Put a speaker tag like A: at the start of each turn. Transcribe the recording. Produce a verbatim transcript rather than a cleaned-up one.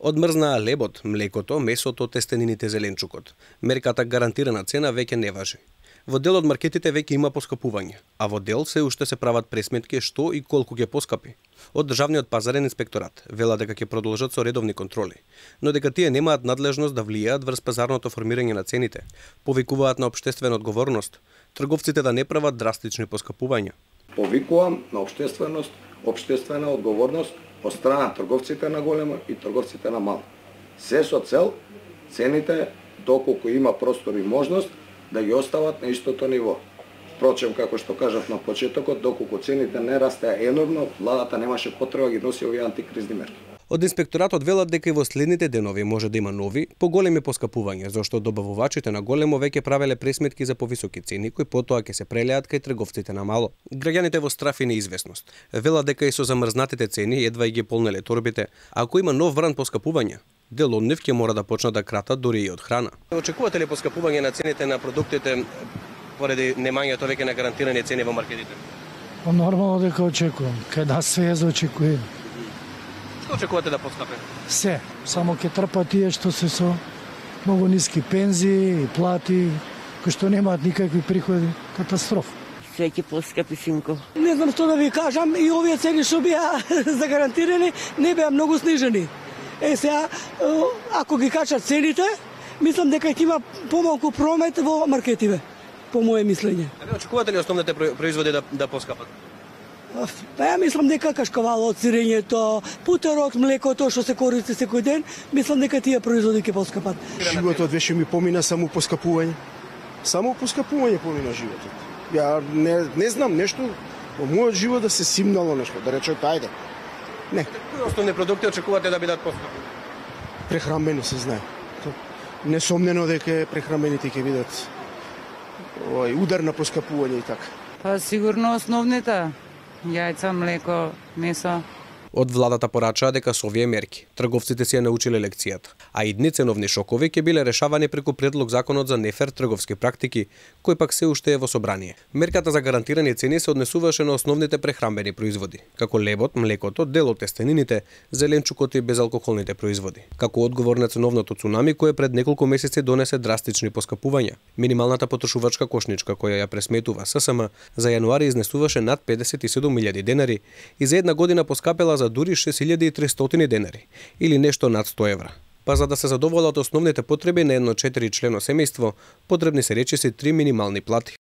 A: Одмрзнаа лебот, млекото, месото, тестенините, зеленчукот. Мерката гарантирана цена веќе не важи. Во дел од маркетите веќе има поскапување, а во дел се уште се прават пресметки што и колку ќе поскапи. Од Државниот пазарен инспекторат вела дека ќе продолжат со редовни контроли, но дека тие немаат надлежност да влијаат врз пазарното формирање на цените. Повикуваат на општествена одговорност, трговците да не прават драстични поскапувања.
B: Повикувам на општественост, општествена одговорност од страна трговците на големо и трговците на мало. Се со цел цените, доколку има простор и можност, да ги остават на истото ниво. Впрочем, како што кажав на почетокот, доколку цените не растеа енормно, владата немаше потреба ги носи овие антикризни мерки.
A: Од инспекторатот велат дека и во следните денови може да има нови, поголеми поскапувања, зашто добавувачите на големо веќе правеле пресметки за повисоки цени, кои потоа ќе се прелеат кај трговците на мало. Граѓаните во страф и неизвестност велат дека и со замрзнатите цени едва и ги полнеле торбите, а ако има нов вран поскапувања, дел од нив ќе мора да почнат да кратат дури и од храна. Очекувате ли поскапување на цените на продуктите поради немањето веќе на гарантирани цени во маркетите?
C: Нормално дека очекувам, кај нас се е за очекувам.
A: Што очекувате да поскапи?
C: Се, само ќе трпат тие што се со многу ниски пензии и плати, кои што немаат никакви приходи. Катастрофа.
D: Се ќе поскапи, синко.
E: Не знам што да ви кажам, и овие цени што беа загарантирани не беа многу снижени. Е сега, ако ги качат цените, мислам дека ќе има помалку промет во маркетиве, по моje мислење.
A: А вие очекувате ли основните производи да, да поскапат?
E: Па ја мислам дека кашкавалот, сирењето, путерот, млекото што се користи секој ден, мислам дека тие производи ќе поскапат.
F: Животот веше ми помина само поскапување. Само поскапување помина животот. Ја не, не знам нешто во мојот живот да се симнало нешто, да речете ајде. Не.
A: Кои основни продукти очекувате да бидат поскапи?
F: Прехранбени се знае. Несомнено дека прехранбените ќе бидат овој удар на поскапување и така.
G: Па сигурно основните јајца, млеко, месо.
A: Од владата порачаа дека со овие мерки трговците си ја научиле лекцијата, а идни ценовни шокови ќе биле решавани преку предлог законот за нефер трговски практики, кој пак се уште е во собрание. Мерката за гарантирани цени се однесуваше на основните прехранбени производи, како лебот, млекото, дел од тестенините, зеленчукот и безалкохолните производи. Како одговор на ценовното цунами кое пред неколку месеци донесе драстични поскапувања. Минималната потрошувачка кошничка која ја пресметува ССМ за јануари изнесуваше над педесет и седум илјади денари и за една година поскапела за дури шест илјади и триста денари, или нешто над сто евра. Па за да се задоволат основните потреби на едно четири члено семејство, потребни се речиси три минимални плати.